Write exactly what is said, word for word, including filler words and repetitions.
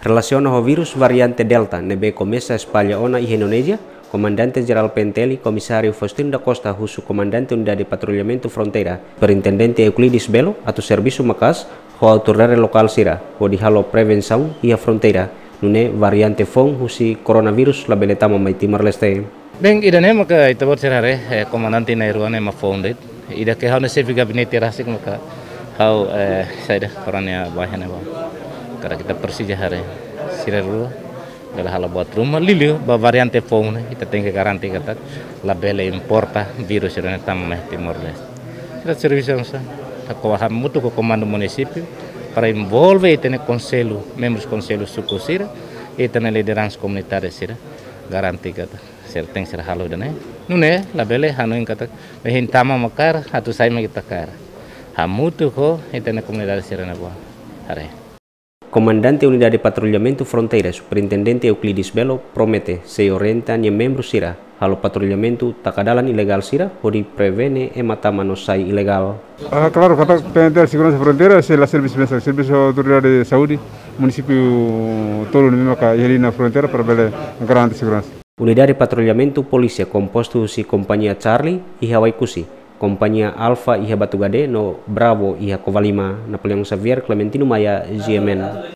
Relasiona ho vírus variante Delta ne'ebé komesa espalla ona iha Indonézia, Komandante Jerál P N T L, Komisáriu Faustino da Costa, husu Komandante Unidade Patrullamentu Fronteira, Superintendente Euclides Belo, atu servisu maka'as ho autoridade lokál sira hodi halo prevensaun iha fronteira, nune'e variante foun husi koronavírus labele tama mai Timor-Leste. Bem, ida-ne'e maka ita-boot sira haree, eh, komandante na'in-rua ne'e mak foun de'it. Ida ke ha'u-nia xefe gabinete rasik maka ha'u, eh, saida, koronavírus ne'e ba. Karik ita presiza haree sira rua, bele halo buat ruma, liuliu ba variante foun ne'e, ita tenke garante katak labele importa vírus sira-ne'e tama mai Timor-Leste. Sira servisu hamutuk ho komandu munisípiu para envolve ita-nia konsellu, membrus konsellu suku sira, ita-nia lideransa komunitária sira, garante katak sira tenke sira halo ida-ne'e. Nune'e labele hanoin katak, mehi tama mak kaer, atu sai mak ita kaer. Hamutuk ho ita-nia komunidade sira-ne'ebá. Haree. Komandante Unidade Patrullamentu Fronteira, Superintendente Euclides Belo, promete sei orienta nia membru sira halo patrullamentu taka dalan ilegál sira hodi prevene ema tama no sai ilegál. Ah, klaru, katak P N T L Seguransa Fronteira sei la servisu mesak, servisu autoridade saúde, munisípiu tolu ne'ebé maka iha liña fronteira para bele garante seguransa. Unidade Patrullamentu Polísia kompostu husi Kompañia Charlie iha Oekusi, Kompañia Alfa iha Batugade no Bravo iha Covalima. Napoleão Xavier, Clementino Maia, G M N.